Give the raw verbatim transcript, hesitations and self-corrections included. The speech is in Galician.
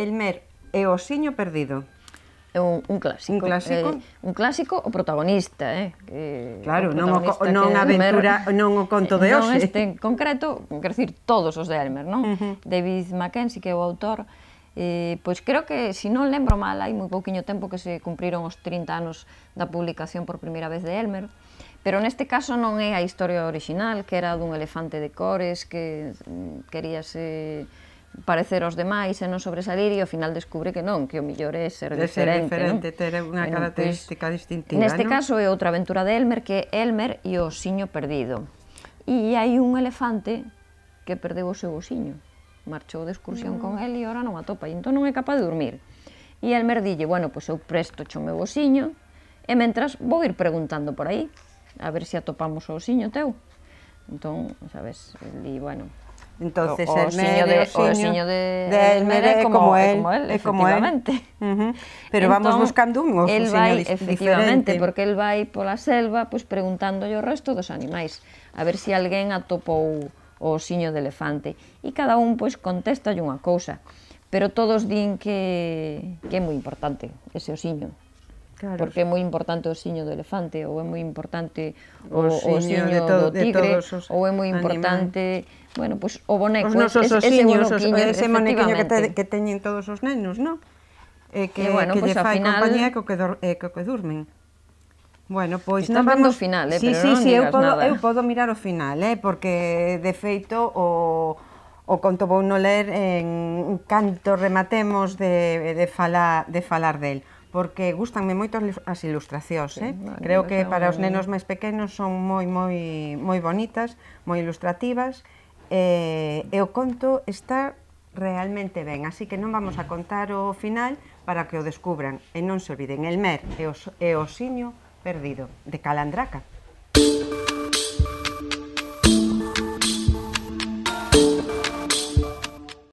Elmer e o osiño perdido. É un, un clásico. Un clásico? Eh, un clásico o protagonista, eh? Que claro, o non, o, protagonista non a aventura, non o conto de non hoxe. este en concreto, quero dicir, todos os de Elmer, non? Uh -huh. David Mackenzie, que é o autor, eh, pois creo que, se non lembro mal, hai moi pouquiño tempo que se cumpriron os trinta anos da publicación por primeira vez de Elmer, pero neste caso non é a historia original, que era dun elefante de cores que queríase parecer aos demais e non sobresalir, e ao final descubre que non, que o mellor é ser de diferente, ser diferente, non? ter unha Bueno, característica pues, distintiva, neste non? caso é outra aventura de Elmer, que é Elmer e o osiño perdido. E hai un elefante que perdeu o seu osiño, marchou de excursión mm. con el e ora non atopa, e entón non é capaz de dormir. E Elmer dille, bueno, pois eu presto o meu osiño, e mentras vou ir preguntando por aí, a ver se atopamos o osiño teu. Entón, sabes, el di, bueno... Entonces, o osiño de, o osiño de, de Elmer é como el, é como el, efectivamente. Uh -huh. Pero entón, vamos buscando un osiño vai, diferente. Efectivamente, porque el vai pola selva pois, preguntándolle o resto dos animais, a ver se alguén atopou o osiño de elefante. E cada un pois, contestalle unha cousa, pero todos din que, que é moi importante ese osiño. Claro. Porque é moi importante o osiño do elefante, ou é moi importante o, o osiño do tigre, ou é moi importante, animais. Bueno, pois o boneco, os nosos ese, osiños, ese, ese monequiño que, te, que teñen todos os nenos, non? E que, e bueno, que pues, lle fai final... compañía co que, do, eh, co que durmen. Bueno, pois non vamos... final, eh, sí, pero sí, non sí, digas eu podo, nada. Eu podo mirar o final, eh, porque de feito o... o conto vou no ler en canto rematemos de, de, falar, de falar del, porque gustanme moito as ilustracións, sí, eh? Vale, creo que para os nenos máis pequenos son moi, moi, moi bonitas, moi ilustrativas, e, e o conto está realmente ben, así que non vamos a contar o final para que o descubran, e non se olviden, Elmer e o osiño perdido, de Calandraca.